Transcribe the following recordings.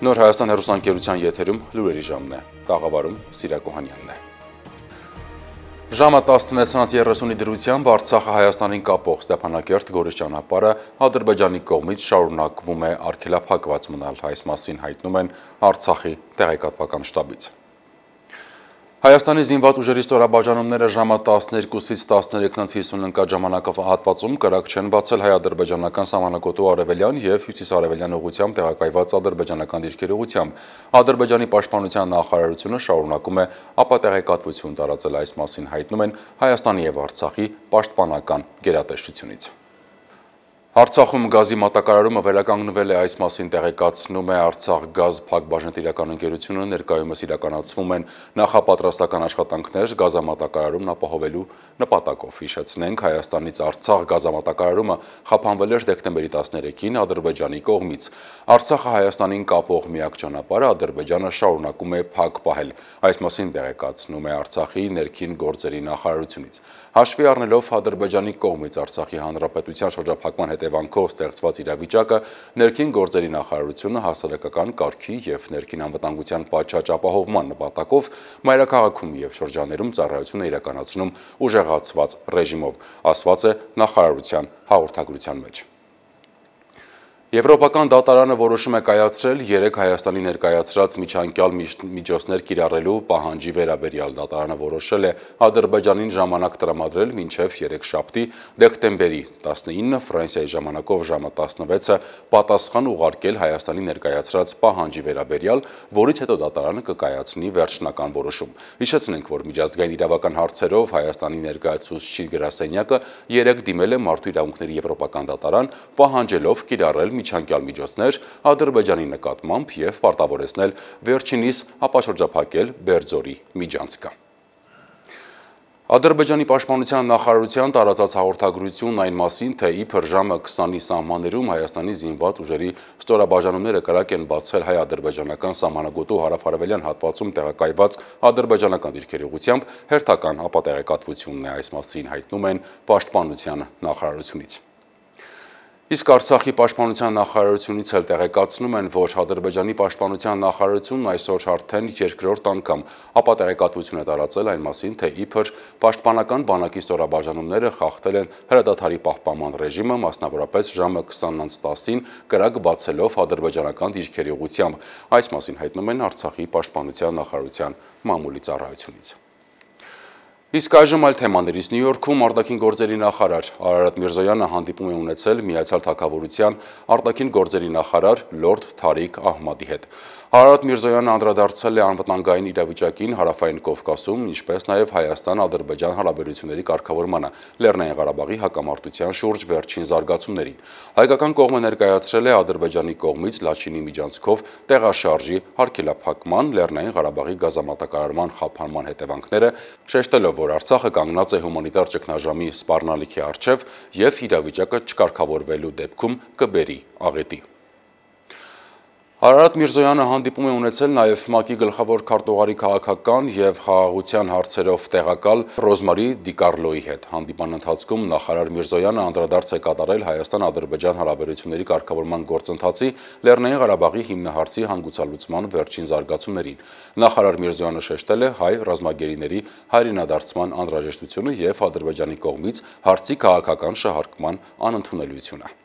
Նոր Հայաստան հեռուստաընկերության եթերում լուրերի ժամն է, տաղավարում Սիրակ Օհանյանն է։ Ժամը 16:30-ի դրությամբ Արցախը Հայաստանին կապող Ստեփանակերտ-Գորիս ճանապարհը Ադրբեջանի կողմից շարունակվում է արգելափակված մնալ, այս մասին հայտնում են Արցախի տեղեկատվական շտաբից։ Հայաստանի զինված ուժերի ստորաբաժանումները ժամը 12-ից 13:50 ընկած ժամանակահատվածում կրակ չեն բացել հայ-ադրբեջանական սահմանագոտու արևելյան և հյուսիսարևելյան ուղղությամբ տեղակայված ադրբեջանական դիրքերի ուղղությամբ։ Ադրբեջանի պաշտպանության նախարարությունը շարունակում է ապատեղեկատվություն տարածել, այս մասին հայտնում են Հայաստանի և Արցախի պաշտպանական գերատեսչությունից։ Արցախում գազի մատակարարումը վերականգնվել է, այս մասին տեղեկացնում է Արցախ գազ փակbaşնետիրական ընկերությունը, ներկայումս իրականացվում են նախապատրաստական աշխատանքներ գազամատակարարումն ապահովելու նպատակով։ Հիշեցնենք, Հայաստանից Արցախ գազամատակարարումը խափանվել էր դեկտեմբերի 13-ին Ադրբեջանի կողմից։ Արցախը Հայաստանին կապող միակ ճանապարհը Ադրբեջանը շարունակում է փակ պահել, այս մասին տեղեկացնում է Արցախի ներքին գործերի նախարարությունից։ Հաշվի առնելով Ադրբեջանի կողմից Արցախի հանրապետության շրջափակման հետևանքով ստեղծված իրավիճակը, ներքին գործերի նախարարությունը հասարակական կարգի և ներքին անվտանգության պատշաճ ապահովման նպատակով մայրաքաղաքում և շրջաններում ծառայություն է իրականացնում ուժեղացված ռեժիմով, ասված է նախարարության հաղորդագրության մեջ։ Եվրոպական դատարանը որոշում է կայացրել 3 Հայաստանի ներկայացրած միջանկյալ միջոցներ կիրառելու պահանջի վերաբերյալ։ Դատարանը որոշել է Ադրբեջանին ժամանակ տրամադրել մինչև երեքշաբթի դեկտեմբերի 19, Ֆրանսիայի ժամանակով ժամը 16-ը պատասխան ուղարկել Հայաստանի ներկայացրած պահանջի վերաբերյալ, որից հետո դատարանը կկայացնի վերջնական որոշում։ Հիշեցնենք, որ միջազգային իրավական հարցերով Հայաստանի ներկայացուցիչ գրասենյակը 3 դիմել է Մարդու իրավունքների եվրոպական դատարան, պահանջելով կիրառել միջանկյալ միջոցներ Ադրբեջանի նկատմամբ և պարտավորեցնել վերջինիս ապաշրջափակել Բերձորի միջանցքը։ Ադրբեջանի պաշտպանության նախարարության տարածած հաղորդագրությունն այն մասին, թե իբր ժամը 20-ի սահմաններում Հայաստանի զինված ուժերի ստորաբաժանումները կրակ են բացել հայ-ադրբեջանական սահմանագոտու հարավ-արևելյան հատվածում տեղակայված ադրբեջանական դիրքերի ուղղությամբ, հերթական ապատեղեկատվությունն է, այս մասին հայտնում են պաշտպանության նախարարությունից։ Իսկ Արցախի պաշտպանության նախարարությունից էլ տեղեկացնում են, որ Ադրբեջանի պաշտպանության նախարարությունն այսօր արդեն երկրորդ անգամ ապատեղեկատվություն է տարածել այն մասին, թե իբր պաշտպանական բանակի ստորաբաժանումները խախտել են հրադադարի պահպանման ռեժիմը, մասնավորապես ժամը 20:10-ին կրակ բացելով ադրբեջանական դիրքերի ուղղությամբ, այս մասին հայտնում են Արցախի պաշտպանության նախարարության մամուլի ծառայությունից։ Իսկ այժմ այլ թեմաներից Նյու Յորքում արտաքին գործերի նախարար Արարատ Միրզոյանը հանդիպում է ունեցել Միացյալ Թագավորության արտաքին գործերի նախարար Լորդ Թարիկ Ահմադի հետ։ Արարատ Միրզոյանը անդրադարձել է անվտանգային իրավիճակին Հարավային Կովկասում, ինչպես նաև Հայաստան-Ադրբեջան հարաբերությունների կարգավորմանը, Լեռնային Ղարաբաղի հակամարտության շուրջ վերջին զարգացումներին։ Հայկական կողմը ներկայացրել է Ադրբեջանի կողմից Լաչինի միջանցքով տեղաշարժի արգելափակման, Լեռնային Ղարաբաղի գազամատակարարման խափանման հետևանքները, շեշտելով, որ Արցախը կանգնած է հումանիտար ճգնաժամի սպառնալիքի առջև և իրավիճակը չկարգավորվելու դեպքում կբերի աղետի։ Արարատ Միրզոյանը հանդիպում է ունեցել նաև ՄԱԿ-ի գլխավոր քարտուղարի քաղաքական և խաղաղության հարցերով տեղակալ Ռոզմարի Դիկարլոյի հետ։ Հանդիպման ընթացքում նախարար Միրզոյանը անդրադարձ է կատարել Հայաստան-Ադրբեջան հարաբերությունների կարգավորման գործընթացի, Լեռնային Ղարաբաղի հիմնահարցի հանգուցալուծման վերջին զարգացումներին։ Նախարար Միրզոյանը շեշտել է հայ ռազմագերիների հայրենադարձման անհրաժեշտությունը և Ադրբեջանի կողմից հարցի քաղաքական շահարկման անընդունելիությունը։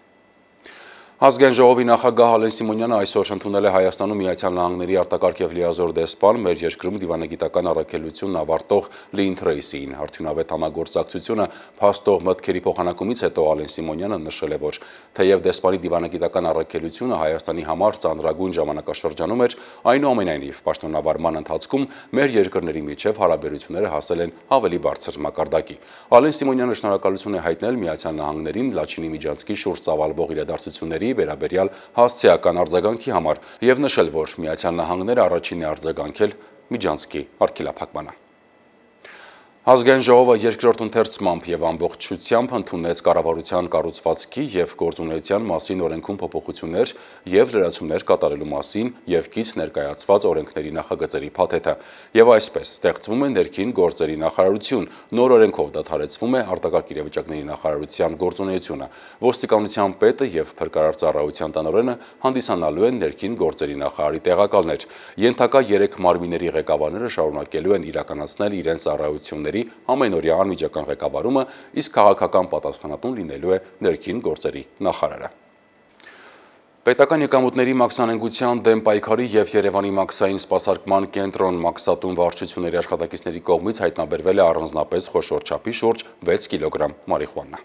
Ազգային ժողովի նախագահ Ալեն Սիմոնյանը այսօր ընդունել է Հայաստանում Միացյալ Նահանգների արտակարգ և լիազոր դեսպան, մեր երկրում դիվանագիտական առաքելությունն ավարտող Լին Թրեյսիին։ Արդյունավետ համագործակցությունը փաստող մտքերի փոխանակումից հետո Ալեն Սիմոնյանը նշել է, որ թեև դեսպանի դիվանագիտական առաքելությունը Հայաստանի համար ծանրագույն ժամանակաշրջանում էր, այնուամենայնիվ պաշտոնավարման ընթացքում մեր երկրների միջև հարաբերությունները հասել են ավելի բարձր մակարդակի։ Ալեն Սիմոնյանը շնորհակալություն է հայտնել Միացյալ Նահանգներին Լաչինի միջանցքի շուրջ ծավալվող իրադարձությունների վերաբերյալ հասցեական արձագանքի համար և նշել, որ Միացյալ Նահանգները առաջինն է արձագանքել միջանցքի արգելափակմանը։ Ազգային ժողովը երկրորդ ընթերցմամբ եւ ամբողջությամբ ընդունեց կառավարության կառուցվածքի եւ գործունեության մասին օրենքում փոփոխություններ եւ լրացումներ կատարելու մասին եւ կից ներկայացված օրենքների նախագծերի փաթեթը եւ այսպես ստեղծվում է ներքին գործերի նախարարություն, նոր օրենքով դադարեցվում է արտակարգ իրավիճակների նախարարության գործունեությունը, ոստիկանության պետը եւ փրկարար ծառայության տնօրենը հանդիսանալու են ներքին գործերի նախարարի տեղակալներ, ենթակա 3 մարմինների ղեկավարները շարունակելու են իրականացնել իրենց ծառայությունների ամենօրյա անմիջական ղեկավարումը, իսկ քաղաքական պատասխանատուն լինելու է ներքին գործերի նախարարը։ Պետական եկամուտների մաքսանենգության դեմ պայքարի եւ Երևանի մաքսային սպասարկման կենտրոն մաքսատուն վարչությունների աշխատակիցների կողմից հայտնաբերվել է առանձնապես խոշոր չափի շուրջ 6 կիլոգրամ մարիխուանա։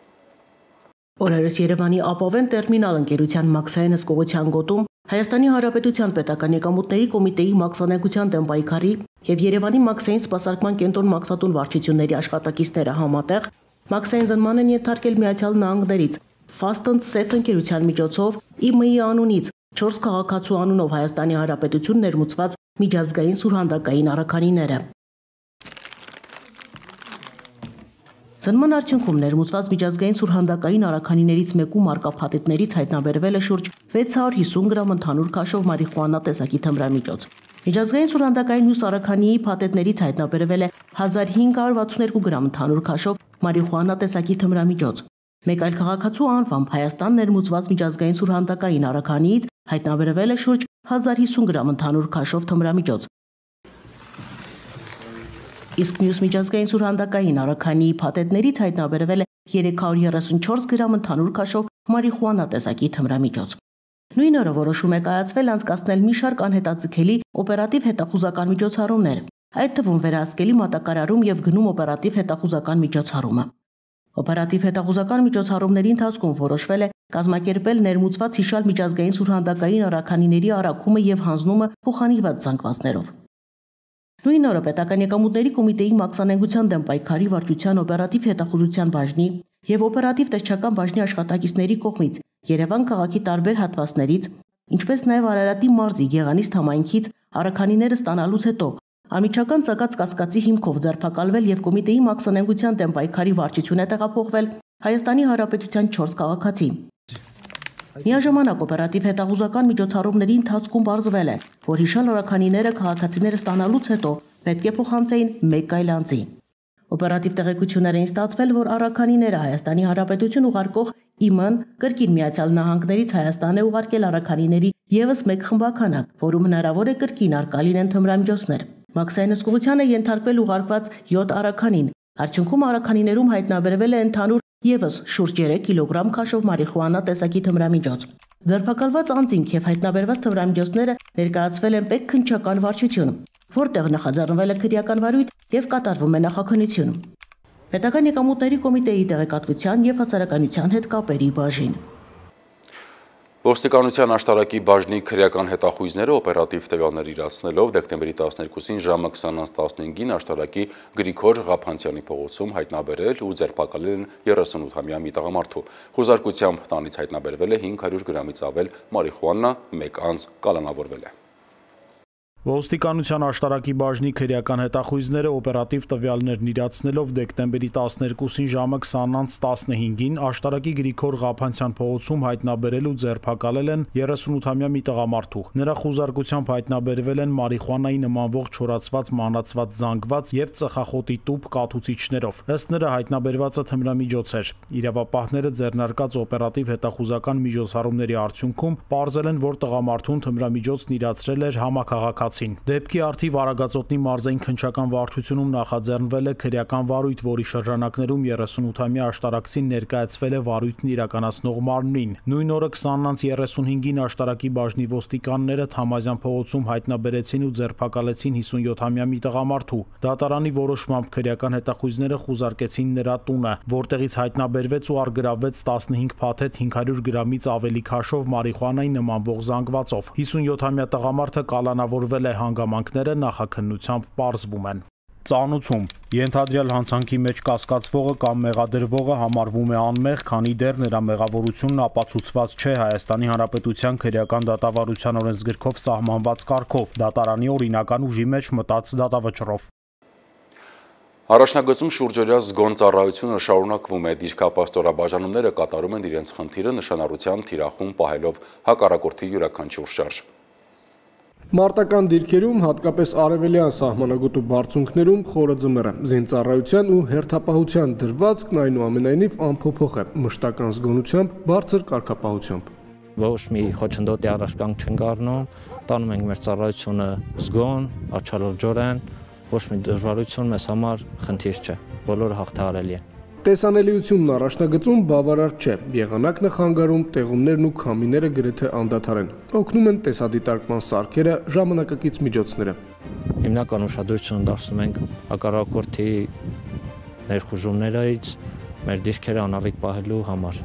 Օրերս Երևանի ապավեն տերմինալ ընկերության մաքսային հսկողության գոտում Հայաստանի Հանրապետության պետական եկամուտների կոմիտեի մաքսանենգության դեմ պայքարի եւ Երևանի մաքսային սպասարկման կենտրոն մաքսատուն վարչությունների աշխատակիցները համատեղ մաքսային զնման են ենթարկել Միացյալ Նահանգներից Fast and Safe ընկերության միջոցով ԻՄԻ անունից 4 քաղաքացու անունով Հայաստանի Հանրապետություն ներմուծված միջազգային սուրհանդակային առաքանիները։ Զնման արդյունքում ներմուծված միջազգային սուրհանդակային առաքանիներից մեկում արկա փաթեթներից հայտնաբերվել է շուրջ 650 գրամ ընդհանուր քաշով մարիխուանա տեսակի թմրամիջոց։ Միջազգային սուրհանդակային մյուս առաքանիի փաթեթներից հայտնաբերվել է 1562 գրամ ընդհանուր քաշով մարիխուանա տեսակի թմրամիջոց։ Մեկ այլ քաղաքացու անվամբ Հայաստան ներմուծված միջազգային սուրհանդակային առաքանիից հայտնաբերվել է շուրջ 1050 գրամ ընդհանուր քաշով թմրամիջոց։ Իսկ մյուս միջազգային սուրհանդակային առաքանիի փաթեթներից հայտնաբերվել է 334 գրամ ընդհանուր քաշով մարիխուանա տեսակի թմրամիջոց։ Նույն օրը որոշում է կայացվել անցկացնել մի շարք անհետաձգելի օպերատիվ հետախուզական միջոցառումներ, այդ թվում վերահսկելի մատակարարում եւ գնում օպերատիվ հետախուզական միջոցառումը։ Օպերատիվ հետախուզական միջոցառումների ընթացքում որոշվել է կազմակերպել ներմուծված հիշալ միջազգային սուրհանդակային առաքանիների առաքումը եւ հանձնումը փոխանցված զանգվածներով։ Նույն օրը պետական եկամուտների կոմիտեի մաքսանենգության դեմ պայքարի վարչության օպերատիվ հետախուզության բաժնի եւ օպերատիվ տեսչական բաժնի աշխատակիցների կողմից Երևան քաղաքի տարբեր հատվածներից, ինչպես նաեւ Արարատի մարզի Գեղանիստ համայնքից առաքանիները ստանալուց հետո անմիջական ցակած կասկածի հիմքով ձերբակալվել եւ կոմիտեի մաքսանենգության դեմ պայքարի վարչություն է տեղափոխվել Հայաստանի Հանրապետության 4 քաղաքացի։ Միաժամանակ օպերատիվ հետախուզական միջոցառումների ընթացքում պարզվել է, որ հիշալ առաքանիները քաղաքացիները ստանալուց հետո պետք է փոխանցեին մեկ այլ անձի։ Օպերատիվ տեղեկություններ էին ստացվել, որ առաքանիները Հայաստանի Հանրապետություն ուղարկող ԻՄ-ն կրկին Միացյալ Նահանգներից Հայաստան է ուղարկել առաքանիների եւս մեկ խմբականակ, որում հնարավոր է կրկին արկա լինեն թմրամիջոցներ։ Մաքսային հսկողությանը ենթարկվել ուղարկված 7 առաքանին։ Արդյունքում առաքանիներում հայտնաբերվել է ընդհանուր եւս շուրջ 3 կիլոգրամ քաշով մարիխուանա տեսակի թմրամիջոց։ Ձերբակալված անձինք եւ հայտնաբերված թմրամիջոցները ներկայացվել են պետ քննչական վարչություն, որտեղ նախաձեռնվել է քրեական վարույթ եւ կատարվում է նախաքննություն։ Պետական եկամուտների կոմիտեի տեղեկատվության եւ հասարակայնության հետ կապերի բաժին։ Ոստիկանության աշտարակի բաժնի քրեական հետախույզները օպերատիվ տվյալներ իրացնելով դեկտեմբերի 12-ին ժամը 20:15-ին աշտարակի Գրիգոր Ղափանցյանի փողոցում հայտնաբերել ու ձերբակալել են 38-ամյա մի տղամարդու։ Խոզարկությամբ տանից հայտնաբերվել է 500 գրամից ավել մարիխուանա, մեկ անձ կալանավորվել է։ Ոստիկանության աշտարակի բաժնի քրեական հետախույզները օպերատիվ տվյալներն իրացնելով դեկտեմբերի 12-ին ժամը 20:15-ին աշտարակի Գրիգոր Ղափանցյան փողոցում հայտնաբերել ու ձերբակալել են 38-ամյա մի տղամարդու։ Նրա խոզարկությամբ հայտնաբերվել են մարիխուանայի նմանվող չորացված, մանրացված, զանգված եւ ծխախոտի տուփ կաթուցիչներով։ Ըստ նրա հայտնաբերվածը թմրամիջոց էր։ Իրավապահները ձեռնարկած օպերատիվ հետախուզական միջոցառումների արդյունքում պարզել են, որ տղամարդուն թմրամիջոցն իրացրել էր համաքաղաքացին։ Դեպքի արդիվ Արագածոտնի մարզային քննչական վարչությունում նախաձեռնվել է քրեական վարույթ, որի շրջանակներում 38-ամյա աշտարակցին ներկայացվել է վարույթն իրականացնող մարմնին։ Նույն օրը 20:35-ին աշտարակի բաժնի ոստիկանները Թամազյան փողոցում հայտնաբերեցին ու ձերբակալեցին 57-ամյա մի տղամարդու։ Դատարանի որոշմամբ քրեական հետախույզները խուզարկեցին նրա տունը, որտեղից հայտնաբերվեց ու առգրավվեց 15 փաթեթ 500 գրամից ավելի քաշով մարիխուանայի նմանվող զանգվածով։ 57-ամյա տղամարդը կալանավորվել է, հանգամանքները նախաքննությամբ պարզվում են։ Ծանուցում ենթադրյալ հանցանքի մեջ կասկածվողը կամ մեղադրվողը համարվում է անմեղ, քանի դեռ նրա մեղավորությունն ապացուցված չէ Հայաստանի Հանրապետության քրեական դատավարության օրենսգրքով սահմանված կարգով, դատարանի օրինական ուժի մեջ մտած դատավճռով։ Առաջնագծում շուրջօրյա զգոն ծառայությունը շարունակվում է, դիրքապաստորաբաժանումները կատարում են իրենց խնդիրը նշանառության թիրախում պահելով հակառակորդի յուրաքանչյուր շարժ։ Մարտական դիրքերում, հատկապես արևելյան սահմանագոտու բարձունքներում խորը ձմեռ է, զինծառայության ու հերթապահության դրվածքն այնուամենայնիվ անփոփոխ է, մշտական զգոնությամբ, բարձր կարգապահությամբ։ Ոչ մի խոչընդոտի առաջկանք չենք առնում, տանում ենք մեր ծառայությունը զգոն, աչալրջորեն, ոչ մի դժվարություն մեզ համար խնդիր չէ, բոլորը հաղթահարելի են։ Տեսանելիությունն առաջնագծում բավարար չէ, եղանակն է խանգարում, տեղումներն ու քամիները գրեթե անդադար են, օգնում են տեսադիտարկման սարքերը, ժամանակակից միջոցները։ Հիմնական ուշադրություն դարձնում ենք հակառակորդի ներխուժումներից մեր դիրքերը անառիկ պահելու համար։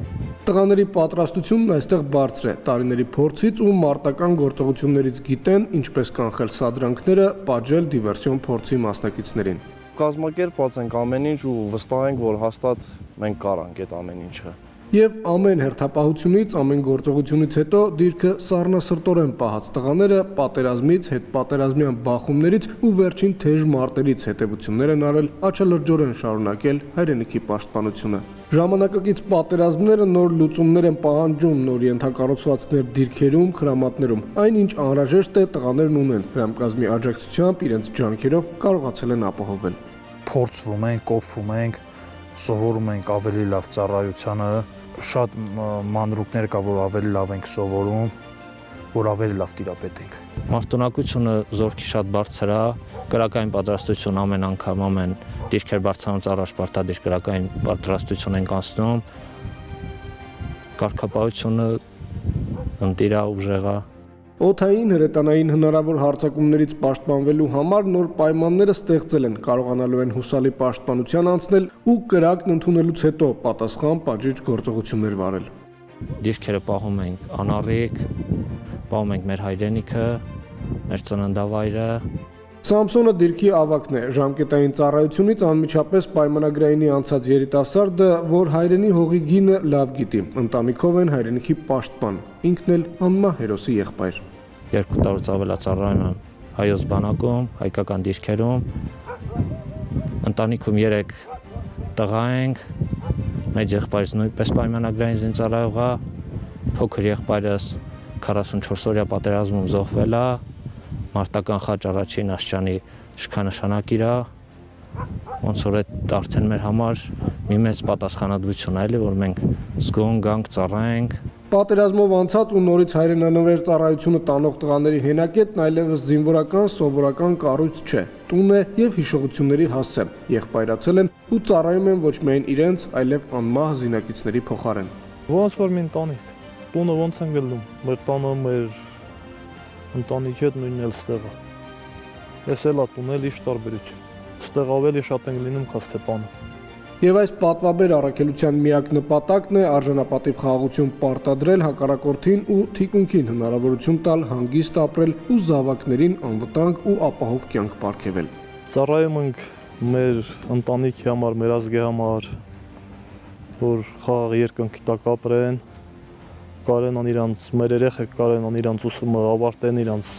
Տղաների պատրաստությունն այստեղ բարձր է, տարիների փորձից ու մարտական գործողություններից գիտեն, ինչպես կանխել սադրանքները, պատժել դիվերսիոն փորձի մասնակիցներին։ Կազմակերպված ենք ամեն ինչ ու վստահ ենք, որ հաստատ մենք կարանք այդ ամեն ինչը։ Եվ ամեն հերթապահությունից, ամեն գործողությունից հետո դիրքը սառնասրտորեն պահած տղաները պատերազմից, հետպատերազմյան բախումներից ու վերջին թեժ մարտերից հետևություններ են արել, աչալրջորեն շարունակել հայրենիքի պաշտպանությունը։ Ժամանակակից պատերազմները նոր լուծումներ են պահանջում, նոր ենթակառուցվածքներ դիրքերում, խրամատներում։ Այնինչ անհրաժեշտ է տղաներն ունեն, հրամկազմի աջակցությամբ իրենց ջանքերով կարողացել են ապահովել։ Փորձվում ենք, կոփվում ենք, սովորում ենք ավելի լավ ծառայությանը, շատ մանրուքներ կա, որ ավելի լավ ենք սովորում, որ ավելի լավ տիրապետենք։ Մարտունակությունը զորքի շատ բարձր է, կրակային պատրաստություն ամեն անգամ, ամեն դիրքեր բարձրանալուց առաջ պարտադիր կրակային պատրաստություն ենք անցնում, կարգապահությունը ընտիր է, ուժեղ է։ Օդային, հրետանային հնարավոր հարձակումներից պաշտպանվելու համար նոր պայմանները ստեղծել են, կարողանալու են հուսալի պաշտպանության անցնել ու կրակն ընդունելուց հետո պատասխան պատժիչ գործողություններ վարել։ Դիրքերը պահում ենք անառիկ, պահում ենք մեր հայրենիքը, մեր ծննդավայրը։ Սամսոնը դիրքի ավագն է, ժամկետային ծառայությունից անմիջապես պայմանագրայինի անցած երիտասարդը, որ հայրենի հողի գինը լավ գիտի, ընտանիքով են հայրենիքի պաշտպան, ինքն էլ անմահ հերոսի եղբայր։ 2 տարուց ավելա ծառայում եմ հայոց բանակում, հայկական դիրքերում, ընտանիքում 3 տղա ենք, մեծ եղբայրս նույնպես պայմանագրային զինծառայող է, փոքր եղբայրս 44-օրյա պատերազմում զոհվել է, մարտական խաչ առաջին աշճանի շքանշանակիր է, ոնց որ այդ արդեն մեր համար մի մեծ պատասխանատվություն է, էլի, որ մենք զգոն գանք, ծառայենք։ Պատերազմով անցած ու նորից հայրենանվեր ծառայությունը տանող տղաների հենակետն այլևս զինվորական, սովորական կառույց չէ, տուն է եւ հիշողությունների հասցե, եղբայրացել են ու ծառայում են ոչ միայն իրենց, այլև անմահ զինակիցների փոխարեն։ Ոնց որ մի ընտանիք, տունը ոնց են գլնում, մեր տանը մեր ընտանիքի հետ նույնն էլ ստեղը։ Ես էլ ատուն էլ իշ տարբերություն, ստեղ ավելի շատ ենք լինում, քան Ստեփանը։ Եվ այս պատվաբեր առաքելության միակ նպատակն է արժանապատիվ խաղաղություն պարտադրել հակառակորդին ու թիկունքին հնարավորություն տալ հանգիստ ապրել ու զավակներին անվտանգ ու ապահով կյանք պարգևել։ Ծառայում ենք մեր ընտանիքի համար, մեր ազգի համար, որ խաղաղ երկնքի տակ ապրեն, կարենան իրանց, մեր երեխեք կարենան իրանց ուսումը ավարտեն, իրանց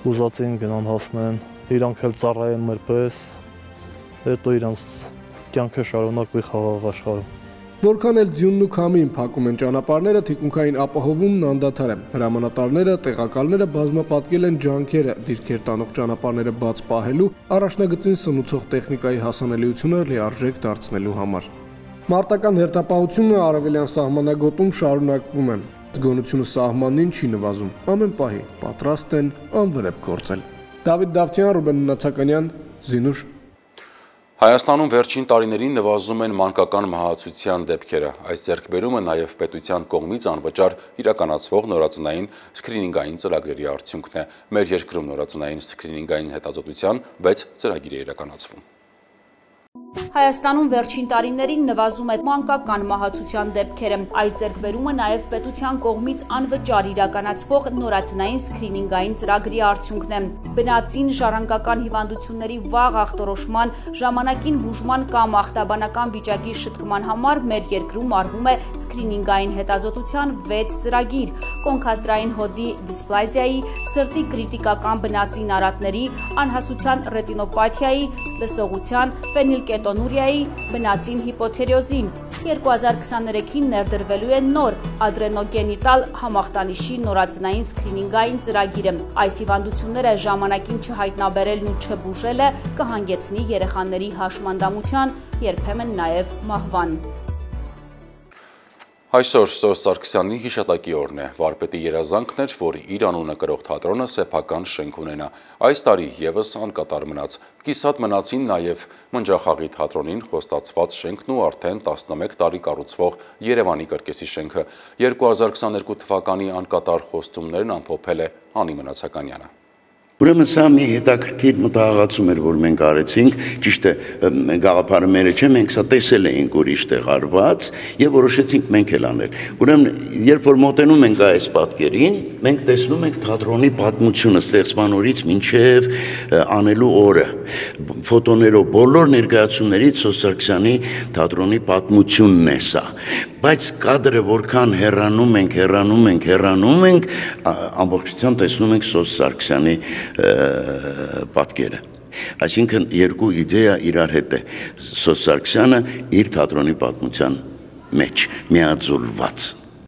ուզածին գնան հասնեն, իրանք էլ ծառայեն մեր պես, հետո իրանց կյանքը շարունակվի խաղաղ աշխարհում։ Որքան էլ ձյունն ու քամին փակում են ճանապարհները, թիկունքային ապահովումն անդադար է։ Հրամանատարները, տեղակալները բազմապատկել են ջանքերը դիրքեր տանող ճանապարհները բաց պահելու, առաջնագծին սնուցող տեխնիկայի հասանելիությունը լիարժեք դարձնելու համար։ Մարտական հերթապահությունը արևելյան սահմանագոտում շարունակվում է։ Զգոնությունը սահմանին չի նվազում։ Ամեն պահի պատրաստ են անվրեպ գործել։ Դավիթ Դավթյան, Ռուբեն Նացականյան, Զինուշ։ Հայաստանում վերջին տարիներին նվազում են մանկական մահացության դեպքերը։ Այս ձեռքբերումը նաև պետության կողմից անվճար իրականացվող նորածնային սկրինինգային ծրագրերի արդյունքն է։ Մեր երկրում նորածնային սկրինինգային հետազոտության 6 ծրագիր է իրականացվում։ Հայաստանում վերջին տարիներին նվազում է մանկական մահացության դեպքերը։ Այս ձեռքբերումը նաև պետության կողմից անվճար իրականացվող նորածնային սկրինինգային ծրագրի արդյունքն է։ Բնածին ժառանգական հիվանդությունների վաղ ախտորոշման, ժամանակին բուժման կամ ախտաբանական վիճակի շտկման համար մեր երկրում արվում է սկրինինգային հետազոտության 6 ծրագիր՝ կոնքազդրային հոդի դիսպլազիայի, սրտի կրիտիկական բնածին արատների, անհասության ռետինոպաթիայի, լսողության, ֆենիլկետոնուրիայի, բնածին հիպոթերեոզի։ 2023-ին ներդրվելու է նոր ադրենոգենիտալ համախտանիշի նորածնային սկրինինգային ծրագիրը։ Այս հիվանդությունները ժամանակին չհայտնաբերելն ու չբուժելը կհանգեցնի երեխաների հաշմանդամության, երբեմն նաև մահվան։ Այսօր Սոս Սարգսյանի հիշատակի օրն է, վարպետի երազանքն էր, որ իր անունը կրող թատրոնը սեփական շենք ունենա։ Այս տարի եւս անկատար մնաց։ Կիսատ մնացին նաև Մնջախաղի թատրոնին խոստացված շենքն ու արդեն 11 տարի կառուցվող Երևանի կրկեսի շենքը։ 2022 թվականի անկատար խոստումներն ամփոփել է Անի Մնացականյանը։ Ուրեմն սա մի հետաքրքիր մտահղացում էր, որ մենք արեցինք, ճիշտ է, գաղափարը մերը չէ, մենք սա տեսել էինք ուրիշ տեղ արված եւ որոշեցինք մենք էլ անել։ Ուրեմն երբ որ մոտենում ենք այս պատկերին, մենք տեսնում ենք թատրոնի պատմությունը ստեղծման օրից մինչեւ անելու օրը։ Ֆոտոներով բոլոր ներկայացումներից Սոս Սարգսյանի թատրոնի պատմությունն է սա։ Բայց կադրը որքան հեռանում ենք, ամբողջությամբ տեսնում ենք Սոս Սարգսյանի պատկերը։ Այսինքն երկու իդեա իրար հետ է։ Սոս Սարգսյանը իր թատրոնի պատմության մեջ միաձուլված։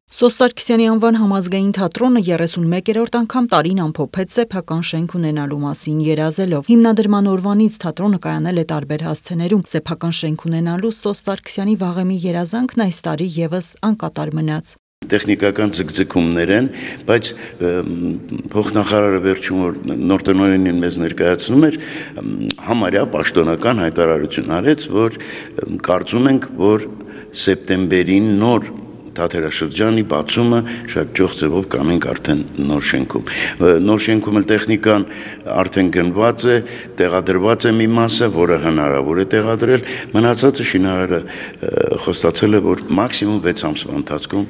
Սոս Սարգսյանի անվան համազգային թատրոնը 31-րդ անգամ տարին ամփոփեց սեփական շենք ունենալու մասին երազելով։ Հիմնադրման օրվանից թատրոնը կայանել է տարբեր հասցեներում։ Սեփական շենք ունենալու Սոս Սարգսյանի վաղեմի երազանքն այս տարի եւս անկատար մնաց։ Տեխնիկական ձգձգումներ են, բայց փոխնախարարը վերջում որ նոր տնօրենին մեզ ներկայացնում էր, համարյա պաշտոնական հայտարարություն արեց, որ կարծում ենք, որ սեպտեմբերին նոր թատերաշրջանի բացումը շատ ջող ձևով կանենք արդեն նոր շենքում։ Նոր շենքում էլ տեխնիկան արդեն գնված է, տեղադրված է մի մասը, որը հնարավոր է տեղադրել, մնացածը շինարարը խոստացել է, որ մաքսիմում 6 ամսվա ընթացքում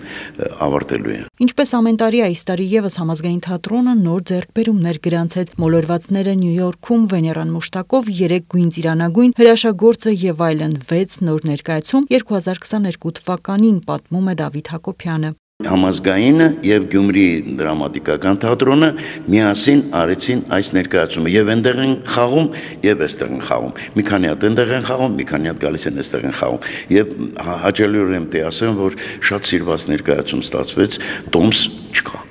ավարտելու է։ Ինչպես ամեն տարի այս տարի եւս համազգային թատրոնը նոր ձեռքբերումներ գրանցեց։ Մոլորվածները Նյու Յորքում Վեներան Մուշտակով 3 գույն ծիրանագույն հրաշագործը եւ այլն 6 նոր ներկայացում 2022 թվականին պատմում է Դավիթ Հակոբյանը։ Համազգայինը եւ Գյումրի դրամատիկական թատրոնը միասին արեցին այս ներկայացումը եւ այնտեղ են խաղում եւ այստեղ են խաղում։ Մի քանի հատ այնտեղ են խաղում, մի քանի հատ գալիս են այստեղ են խաղում։ Եվ հաճելիորեն պետք է ասեմ, որ շատ սիրված ներկայացում ստացվեց, տոմս չկա։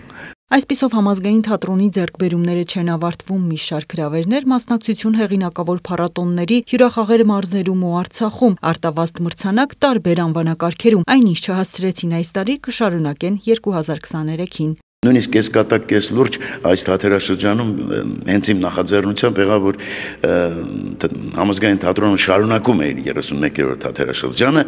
Այսպիսով համազգային թատրոնի ձեռքբերումները չեն ավարտվում մի շարք հրավերներ, մասնակցություն հեղինակավոր փառատոնների, հյուրախաղեր մարզերում ու Արցախում, արտավազդ մրցանակ տարբեր անվանակարգերում, այնինչ չհասցրեցին այս տարի կշարունակեն 2023-ին։ Նույնիսկ կես կատակ, կես լուրջ այս թատերաշրջանում հենց իմ նախաձեռնությամբ եղավ, որ համազգային թատրոնը շարունակում է իր 31-րդ թատերաշրջանը,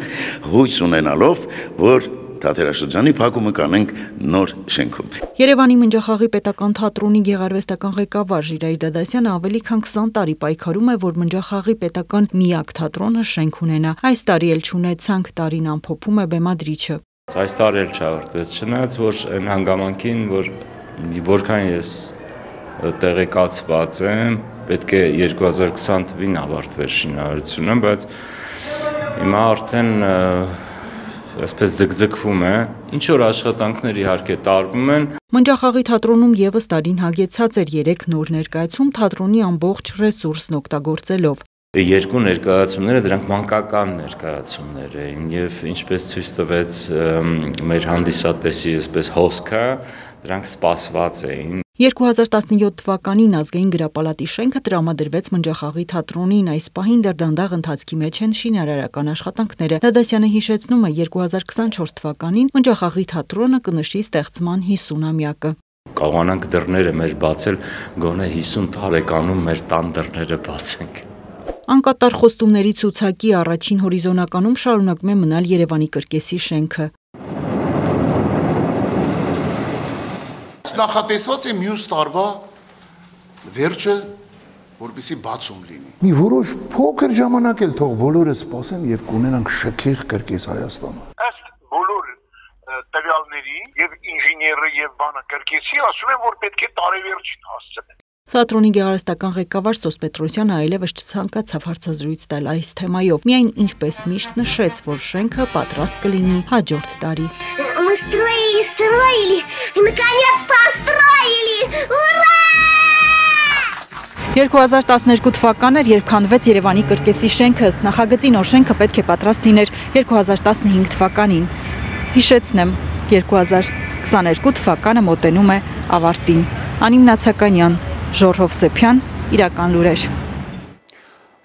հույս ունենալով, որ թատերաշրջանի փակումը կանենք նոր շենքում։ Երևանի Մնջախաղի պետական թատրոնի գեղարվեստական ղեկավար Ժիրայր Դադասյանը ավելի քան 20 տարի պայքարում է, որ Մնջախաղի պետական միակ թատրոնը շենք ունենա։ Այս տարի էլ չունեցանք, տարին ամփոփում է բեմադրիչը։ Այս տարի էլ չավարտվեց, չնայած որ այն հանգամանքին, որ որքան ես տեղեկացված եմ, պետք է 2020 թվականին ավարտվեր շինարարությունը, բայց հիմա արդեն այսպես ձգձգվում է, ինչ որ աշխատանքներ իհարկե տարվում են։ Մնջախաղի թատրոնում եւս տարին հագեցած էր 3 նոր ներկայացում թատրոնի ամբողջ ռեսուրսն օգտագործելով։ Երկու ներկայացումները դրանք մանկական ներկայացումներ էին եւ ինչպես ցույց տվեց մեր հանդիսատեսի այսպես հոսքը, դրանք սպասված էին։ 2017 թվականին ազգային գրապալատի շենքը տրամադրվեց Մնջախաղի թատրոնին, այս պահին դեռ դանդաղ ընթացքի մեջ են շինարարական աշխատանքները։ Դադասյանը հիշեցնում է 2024 թվականին Մնջախաղի թատրոնը կնշի ստեղծման 50-ամյակը։ Կարողանանք դռները մեր բացել, գոնե 50 տարեկանում մեր տան դռները բացենք։ Անկատար խոստումների ցուցակի առաջին հորիզոնականում շարունակում է մնալ Երևանի կրկեսի շենքը։ Նախատեսված է մյուս տարվա վերջը, որպեսզի բացում լինի։ Մի որոշ փոքր ժամանակ էլ թող բոլորը սպասեն եւ կունենանք շքեղ կրկես Հայաստանը։ Ըստ բոլոր տվյալների եւ ինժեները եւ բանը կրկեսի ասում են, որ պետք է տարեվերջին հասցնել։ Թատրոնի գեղարվեստական ղեկավար Սոս Պետրոսյանը այլևս չցանկացավ հարցազրույց տալ այս թեմայով, միայն ինչպես միշտ նշեց, որ շենքը պատրաստ կլինի հաջորդ տարի։ Мы строили, и наконец построили! Ура! 2012 թվականն էր, երբ քանդվեց Երևանի կրկեսի շենքը, ըստ նախագծի նոր շենքը պետք է պատրաստ լիներ 2015 թվականին։ Հիշեցնեմ, 2022 թվականը մոտենում է ավարտին։ Անիմ Նացականյան, Ժորժ Հովսեփյան, Իրական լուրեր։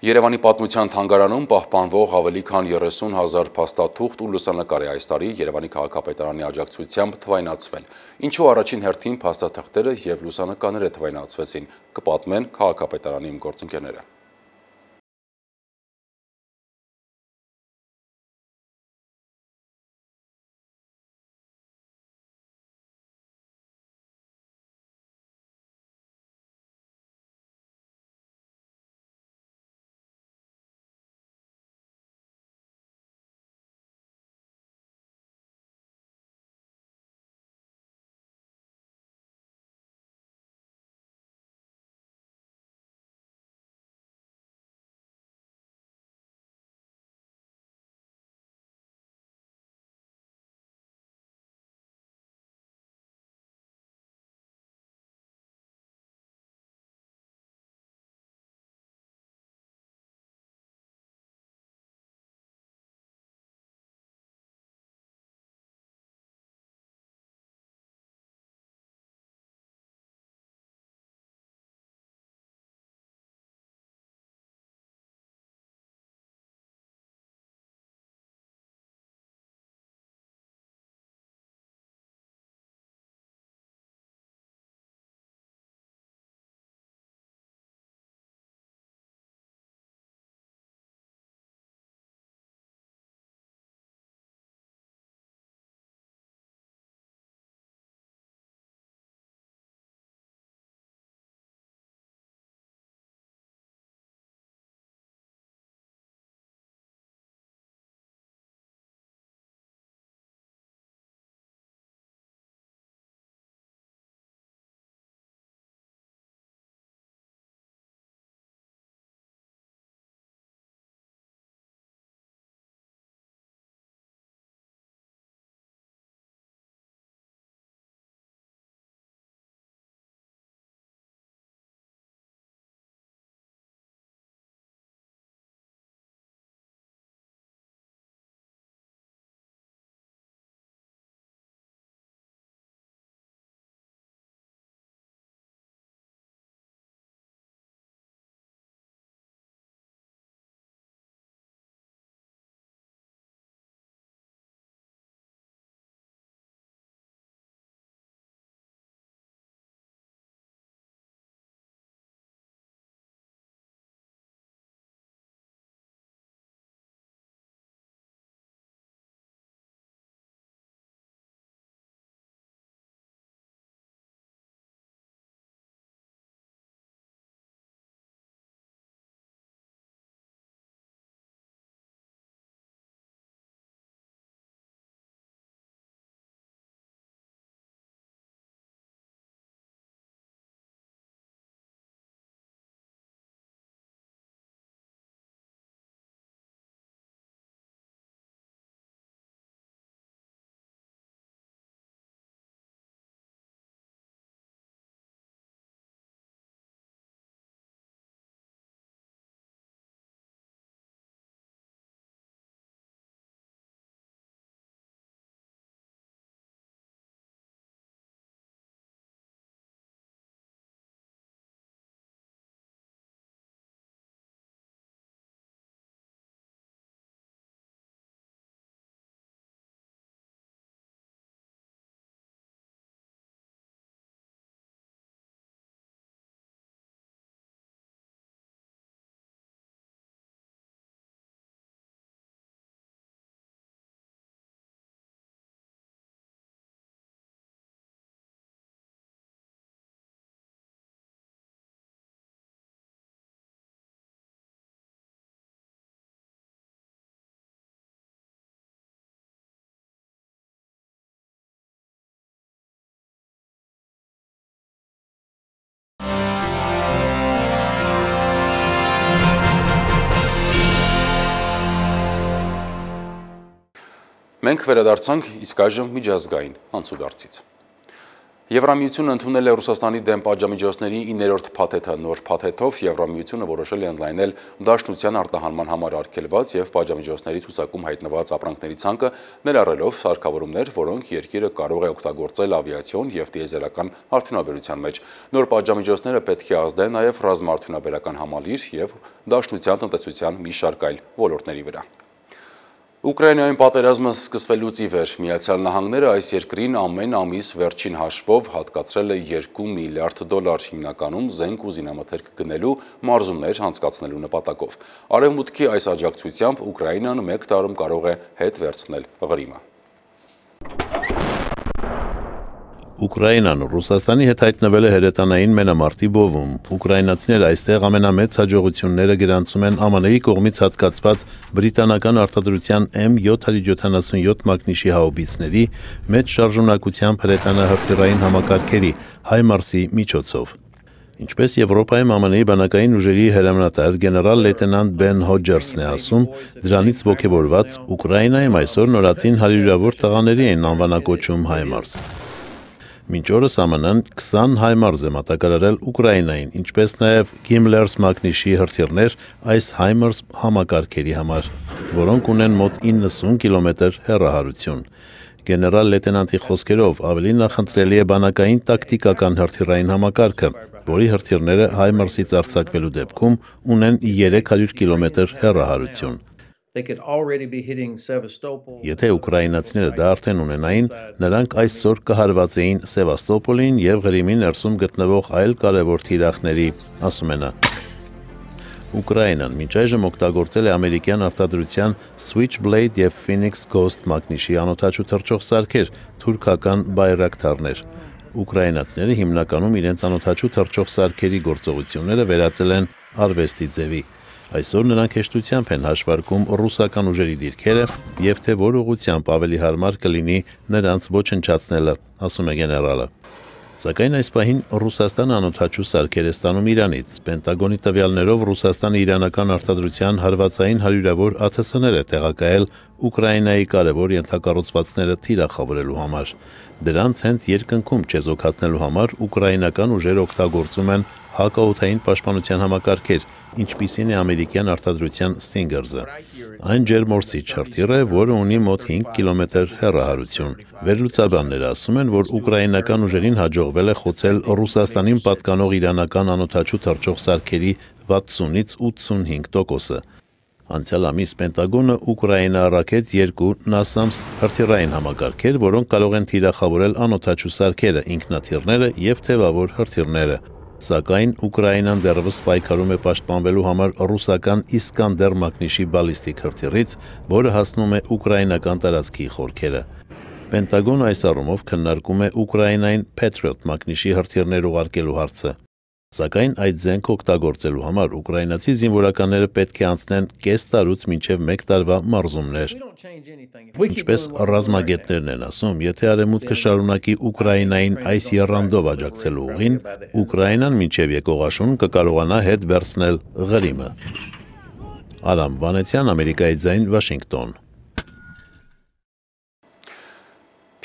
Երևանի պատմության թանգարանում պահպանվող ավելի քան 30,000 փաստաթուղթ ու լուսանկար է այս տարի Երևանի քաղաքապետարանի աջակցությամբ թվայնացվել։ Ինչու առաջին հերթին փաստաթղթերը եւ լուսանկարները թվայնացվեցին, կպատմեն քաղաքապետարանի գործընկերները։ Մենք վերադարձանք իսկ այժմ միջազգային անցուդարձից։ Եվրամիությունը ընդունել է Ռուսաստանի դեմ պատժամիջոցների 9-րդ փաթեթը։ Նոր փաթեթով Եվրամիությունը որոշել է ընդլայնել դաշնության արտահանման համար արգելված եւ պատժամիջոցների ցուցակում հայտնված ապրանքների ցանկը, ներառելով սարքավորումներ, որոնք երկիրը կարող է օգտագործել ավիացիոն եւ դիեզերական արդյունաբերության մեջ։ Նոր պատժամիջոցները պետք է ազդեն նաեւ ռազմաարդյունաբերական համալիր եւ դաշնության տնտեսության մի շարք այլ ոլորտների վրա։ Ուկրաինայում պատերազմը սկսվելուց ի վեր Միացյալ Նահանգները այս երկրին ամեն ամիս վերջին հաշվով հատկացրել է $2 միլիարդ, հիմնականում զենք ու զինամթերք գնելու մարզումներ անցկացնելու նպատակով։ Արևմուտքի այս աջակցությամբ Ուկրաինան 1 տարում կարող է հետ վերցնել Ղրիմը։ Ուկրաինան Ռուսաստանի հետ հայտնվել է հրետանային մենամարտի բովում։ Ուկրաինացիները այստեղ ամենամեծ հաջողությունները գրանցում են ԱՄՆ-ի կողմից հատկացված բրիտանական արտադրության M777 մակնիշի հաուբիցների, մեծ շարժունակությամբ հրետանահրթիռային համակարգերի HIMARS-ի միջոցով։ Ինչպես Եվրոպայում ԱՄՆ-ի բանակային ուժերի հրամանատար գեներալ լեյտենանտ Բեն Հոջերսն է ասում, դրանից ոգևորված Ուկրաինայում այսօր նորածին հարյուրավոր տղաների են անվանակոչում HIMARS։ Մինչ օրս ԱՄՆ-ն 20 HIMARS է մատակարարել Ուկրաինային, ինչպես նաև Gimlers մակնիշի հրթիռներ այս HIMARS համակարգերի համար, որոնք ունեն մոտ 90 կիլոմետր հեռահարություն։ Գեներալ լեյտենանտի խոսքերով ավելի նախընտրելի է բանակային տակտիկական հրթիռային համակարգը, որի հրթիռները HIMARS-ից արձակվելու դեպքում ունեն 300 կիլոմետր հեռահարություն։ Եթե ուկրաինացիները դա արդեն ունենային, նրանք այսօր կհարվածեին Սևաստոպոլին եւ Ղրիմի ներսում գտնվող այլ կարևոր թիրախների, ասում է նա։ Ուկրաինան մինչ այժմ օգտագործել է ամերիկյան արտադրության Switchblade եւ Phoenix Ghost մակնիշի անօդաչու թռչող սարքեր, թուրքական բայրակթարներ։ Ուկրաինացիները հիմնականում իրենց անօդաչու թռչող սարքերի գործողությունները վերածել են արվեստի ձևի։ Այսօր նրանք հեշտությամբ են հաշվարկում ռուսական ուժերի դիրքերը եւ թե որ ուղղությամբ ավելի հարմար կլինի նրանց ոչնչացնելը, ասում է գեներալը։ Սակայն այս պահին Ռուսաստանը անօդաչու սարքեր է ստանում Իրանից։ Պենտագոնի տվյալներով Ռուսաստանը իրանական արտադրության հարվածային հարյուրավոր ԱԹՍ-ներ է տեղակայել Ուկրաինայի կարևոր ենթակառուցվածքները թիրախավորելու համար։ Դրանց հենց երկնքում չեզոքացնելու համար ուկրաինական ուժերը օգտագործում են հակաօդային պաշտպանության համակարգեր, ինչպիսին է ամերիկյան արտադրության Stinger-ը։ Այն ջերմորսիչ հրթիռ է, որը ունի մոտ 5 կիլոմետր հեռահարություն։ Վերլուծաբանները ասում են, որ ուկրաինական ուժերին հաջողվել է խոցել Ռուսաստանին պատկանող իրանական անօդաչու թռչող սարքերի 60-ից 85%-ը։ Անցյալ ամիս Պենտագոնը Ուկրաինա առաքեց 2 NASAMS հրթիռային համակարգեր, որոնք կարող են թիրախավորել անօդաչու սարքերը, ինքնաթիռները եւ թևավոր հրթիռները։ Սակայն Ուկրաինան դեռևս պայքարում է պաշտպանվելու համար ռուսական Իսկանդեր մակնիշի բալիստիկ հրթիռից, որը հասնում է ուկրաինական տարածքի խորքերը։ Պենտագոնը այս առումով քննարկում է Ուկրաինային Patriot մակնիշի հրթիռներ ուղարկելու հարցը։ Սակայն այդ զենքը օգտագործելու համար ուկրաինացի զինվորականները պետք է անցնեն կես տարուց մինչև 1 տարվա մարզումներ։ Ինչպես ռազմագետներն են ասում, եթե Արևմուտքը շարունակի Ուկրաինային այս եռանդով աջակցելու ուղին, Ուկրաինան մինչև եկող աշուն կկարողանա հետ վերցնել Ղրիմը։ Արամ Վանեցյան, Ամերիկայի ձայն, Վաշինգտոն։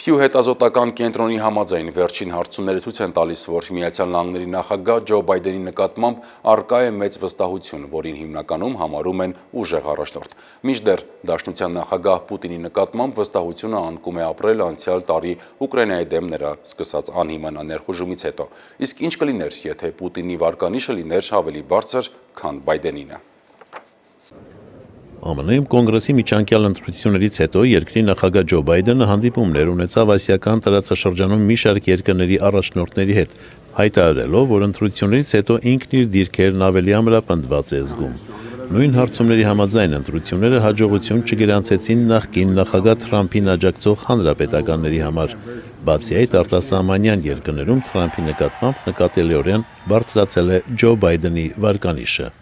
Փյու հետազոտական կենտրոնի համաձայն վերջին հարցումները ցույց են տալիս, որ Միացյալ Նահանգների նախագահ Ջո Բայդենի նկատմամբ առկա է մեծ վստահություն, որին հիմնականում համարում են ուժեղ առաջնորդ։ Մինչդեռ Դաշնության նախագահ Պուտինի նկատմամբ վստահությունը անկում է ապրել անցյալ տարի Ուկրաինայի դեմ նրա սկսած անհիմն ներխուժումից հետո։ Իսկ ինչ կլիներ, եթե Պուտինի վարկանիշը լիներ ավելի բարձր, քան Բայդենինը։ ԱՄՆ-ում կոնգրեսի միջանկյալ ընտրություններից հետո երկրի նախագահ Ջո Բայդենը հանդիպումներ ունեցավ ասիական տարածաշրջանում մի շարք երկրների առաջնորդների հետ, հայտարարելով, որ ընտրություններից հետո ինքն իր դիրքերն ավելի ամրապնդված է զգում։ Նույն հարցումների համաձայն ընտրությունները հաջողություն չգրանցեցին նախկին նախագահ Թրամփին աջակցող հանրապետականների համար։ Բացի այդ, արտասահմանյան երկրներում Թրամփի նկատմամբ նկատելիորեն բարձրացել է Ջո Բայդենի վարկանիշը։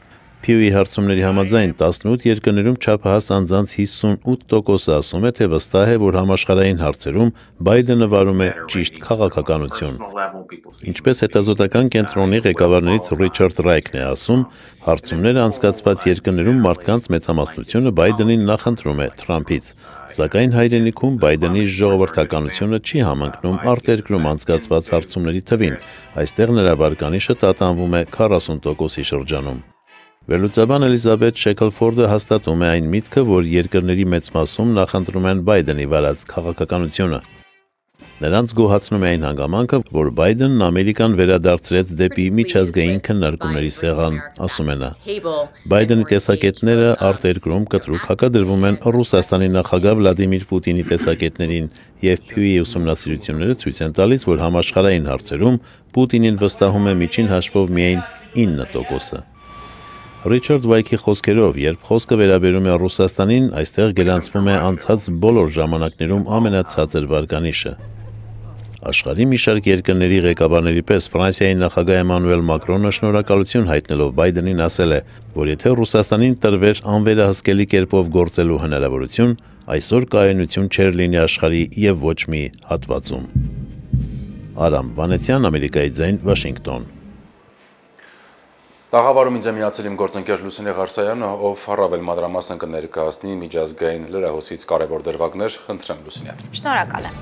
Pew-ի հարցումների համաձայն 18 երկրներում չափահաս անձանց 58%-ը ասում է, թե վստահ է, որ համաշխարհային հարցերում Բայդենը վարում է ճիշտ քաղաքականություն։ Ինչպես հետազոտական կենտրոնի ղեկավարներից Ռիչարդ Ռայքն է ասում, հարցումները անցկացված երկրներում մարդկանց մեծամասնությունը Բայդենին նախընտրում է Թրամփից, սակայն հայրենիքում Բայդենի ժողովրդականությունը չի համընկնում արտերկրում անցկացված հարցումների թվին, այստեղ նրա վարկանիշը տատանվում է 40%-ի շրջանում։ Վերլուծաբան Էլիզաբեթ Շեքլֆորդը հաստատում է այն միտքը, որ երկրների մեծ մասում նախընտրում են Բայդենի վարած քաղաքականությունը։ Նրանց գոհացնում է այն հանգամանքը, որ Բայդենն Ամերիկան վերադարձրեց դեպի միջազգային քննարկումների սեղան, ասում է նա։ Բայդենի տեսակետները արտերկրում կտրուկ հակադրվում են Ռուսաստանի նախագահ Վլադիմիր Պուտինի տեսակետներին, եւ Pew-ի ուսումնասիրությունները ցույց են տալիս, որ համաշխարհային հարցերում Պուտինին վստահում է միջին հաշվով միայն 9%-ը։ Ռիչարդ Վայքի խոսքերով, երբ խոսքը վերաբերում է Ռուսաստանին, այստեղ գրանցվում է անցած բոլոր ժամանակներում ամենացածր վարկանիշը։ Աշխարհի մի շարք երկրների ղեկավարների պես Ֆրանսիայի նախագահ Էմանուել Մակրոնը շնորհակալություն հայտնելով Բայդենին ասել է, որ եթե Ռուսաստանին տրվեր անվերահսկելի կերպով գործելու հնարավորություն, այսօր կայունություն չէր լինի աշխարհի եւ ոչ մի հատվածում։ Արամ Վանեցյան, Ամերիկայի ձայն, Վաշինգտոն։ Տաղավարում ինձ է միացել իմ գործընկեր Լուսինե Ղարսայանը, ով առավել մանրամասն կներկայացնի միջազգային լրահոսից կարևոր դրվագներ, խնդրեմ Լուսինե։ Շնորհակալ եմ։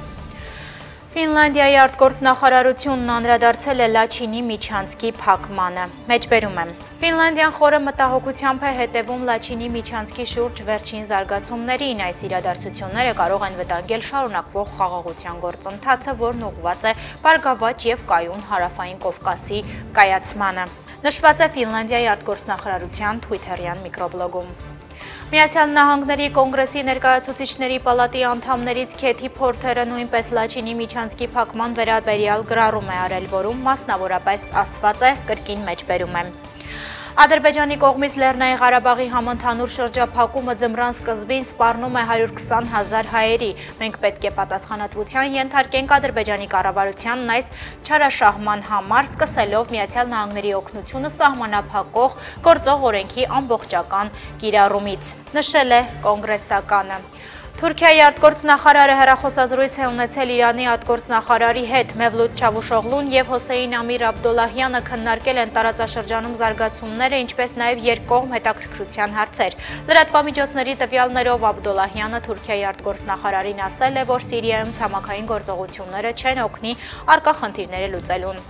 Ֆինլանդիայի արտգործնախարարությունն անդրադարձել է Լաչինի միջանցքի փակմանը։ Մեջբերում եմ։ Ֆինլանդիան խորը մտահոգությամբ է հետևում Լաչինի միջանցքի շուրջ վերջին զարգացումներին։ Այս իրադարձությունները կարող են վտանգել շարունակվող խաղաղության գործընթացը, որն ուղղված է Բարգավաճ եւ կայուն Հարավային Կովկասի կայացմանը։ Նշված է Ֆինլանդիայի արտգործնախարարության Twitter-յան միկրոբլոգում։ Միացյալ Նահանգների կոնգրեսի ներկայացուցիչների պալատի անդամներից Քեթի Փորթերը նույնպես Լաչինի միջանցքի փակման վերաբերյալ գրառում է արել, որում մասնավորապես ասված է, կրկին մեջբերում եմ։ Ադրբեջանի կողմից Լեռնային Ղարաբաղի համընդհանուր շրջափակումը ձմռան սկզբին սպառնում է 120,000 հայերի։ Մենք պետք է պատասխանատվության ենթարկենք Ադրբեջանի կառավարությանն այս չարաշահման համար, սկսելով Միացյալ Նահանգների օգնությունը սահմանափակող գործող օրենքի ամբողջական կիրառումից, նշել է կոնգրեսականը։ Թուրքիայի արտգործնախարարը հեռախոսազրույց է ունեցել Իրանի արտգործնախարարի հետ։ Մևլութ Չավուշօղլուն եւ Հոսեյն Ամիր Աբդոլլահյանը քննարկել են տարածաշրջանում զարգացումները, ինչպես նաեւ երկկողմ հետաքրքրության հարցեր։ Լրատվամիջոցների տվյալներով Աբդոլլահյանը Թուրքիայի արտգործնախարարին ասել է, որ Սիրիայում ցամաքային գործողությունները չեն օգնի առկա խնդիրները լուծելուն։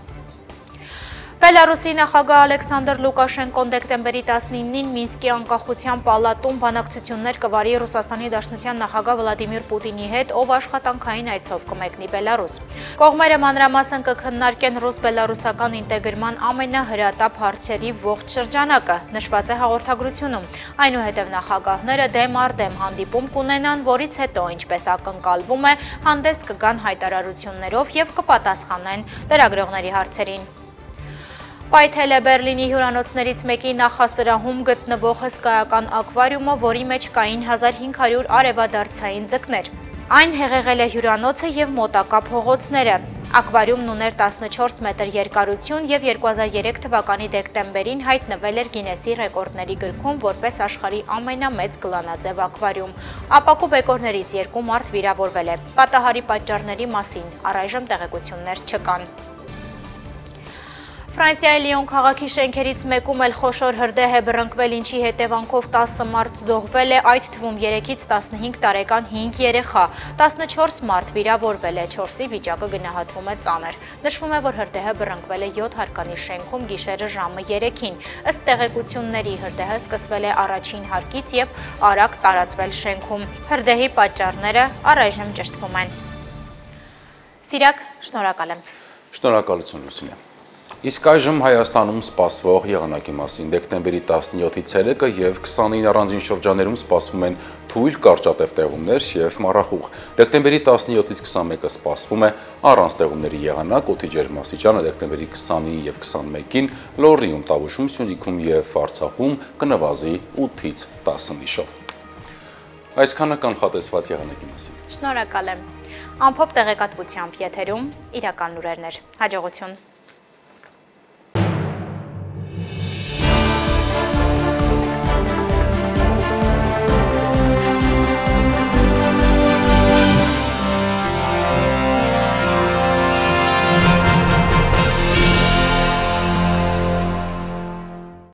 Բելարուսի նախագահ Ալեքսանդր Լուկաշենկոն դեկտեմբերի 19-ին Մինսկի անկախության պալատում բանակցություններ կվարի Ռուսաստանի Դաշնության նախագահ Վլադիմիր Պուտինի հետ, ով աշխատանքային այցով կմեկնի Բելարուս։ Կողմերը մանրամասն կքննարկեն ռուս-բելարուսական ինտեգրման ամենահրատապ հարցերի ողջ շրջանակը, նշված է հաղորդագրությունում։ Այնուհետև նախագահները դեմ առ դեմ հանդիպում կունենան, որից հետո, ինչպես ակնկալվում է, հանդես կգան հայտարարություններով եւ կպատասխանեն լրագրողների հարցերին։ Պայթել է Բերլինի հյուրանոցներից մեկի նախասրահում գտնվող հսկայական ակվարիումը, որի մեջ կային 1500 արևադարձային ձկներ։ Այն հեղեղել է հյուրանոցը եւ մոտակա փողոցները։ Ակվարիումն ուներ 14 մետր երկարություն եւ 2003 թվականի դեկտեմբերին հայտնվել էր Գինեսի ռեկորդների գրքում որպես աշխարհի ամենամեծ գլանաձև ակվարիում։ Ապակու բեկորներից 2 մարդ վիրավորվել է։ Պատահարի պատճառների մասին առայժմ տեղեկություններ չկան։ Ֆրանսիայի Լիոն քաղաքի շենքերից մեկում էլ խոշոր հրդեհ է բռնկվել, ինչի հետևանքով 10 մարդ զոհվել է, այդ թվում 3-ից 15 տարեկան 5 երեխա, 14 մարդ վիրավորվել է, 4-ի վիճակը գնահատվում է ծանր։ Նշվում է, որ հրդեհը բռնկվել է 7 հարկանի շենքում գիշերը ժամը 3-ին։ Ըստ տեղեկությունների հրդեհը սկսվել է առաջին հարկից եւ արագ տարածվել շենքում։ Հրդեհի պատճառները առայժմ ճշտվում են։ Սիրակ, շնորհակալ եմ։ Շնորհակալություն Լուսինե։ Իսկ այժմ Հայաստանում սպասվող եղանակի մասին դեկտեմբերի 17-ի ցերեկը եւ 29 առանձին շրջաններում սպասվում են թույլ կարճատև տեղումներ եւ մառախուղ։ Դեկտեմբերի 17-ից 21-ը սպասվում է առանց տեղումների եղանակ, օդի ջերմաստիճանը դեկտեմբերի 20-ի եւ 21-ին Լոռիում, Տավուշում, Սյունիքում եւ Արցախում կնվազի 8-ից 10 միշով։ Այսքանը կանխատեսված եղանակի մասին։ Շնորհակալ եմ։ Ամփոփ տեղեկատվությամբ եթերում իրական լուրերներ։ Հաջողություն։